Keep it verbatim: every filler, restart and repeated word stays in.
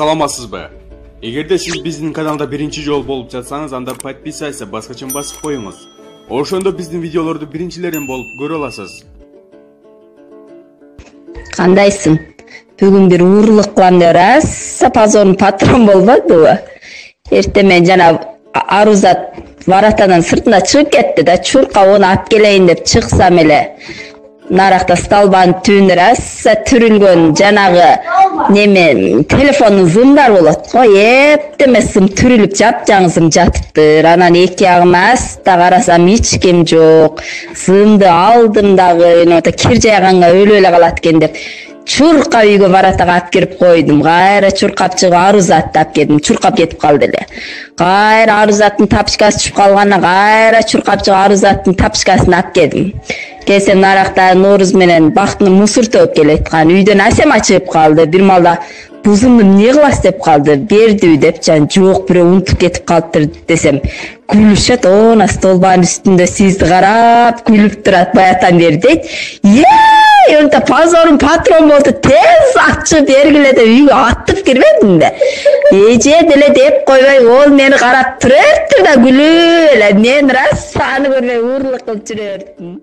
Саламатсызбы? Эгерде сиз биздин каналда биринчи жолу болуп жатсаңыз, анда подписаться баскычын басып коюңуз. Ошондо биздин видеолорду биринчилерден болуп көрө аласыз. Кандайсың? Бүгүн бир уурулук кылам деп аса позорун патрон болбодубу? Эртең мен жана Арузат воротанын сыртына чыгып кетти да, чурка оны алып келейин деп чыксам эле наракта столбанын түбүндө аса түрүлгөн жанагы неме телефондун зымдар болот го. Эптеме сым түрүлүп жапжаң зым жатыптыр. Анан эки ягыма аста карасам эч ким жок. Зымды алдым дагы, эне кир жайганга өлүп эле калат экен деп чуркап үйгө воротага алып кирип койдум. Кайра чуркап чыгып Арузатты алып келдим. Чуркап кетип калды эле. Кайра Арузаттын тапочкасы түшүп калганына кайра чуркап чыгып Арузаттын тапочкасын алып келдим. Келсем наракта Нооруз менен Бактын мусор төгүп келаткан. Үйдөн Асема чыгып калды. Бир малда бузумду эмне кыласыз деп калды. Бердиби деп жан жок, бирөө унутуп кетип калыптыр десем, күлүшөт. Она столбанын үстүндө сизди карап күлүп турат баятан бери дейт. Е, онта позорун патрон болду. Тез ачып бергиле деп үйгө атып кирбедим да. Эже деле деп койбой, ол мени карап туруптур да күлүп эле. Мен рас аны көрбөй уурулук кылып жүрө бердим.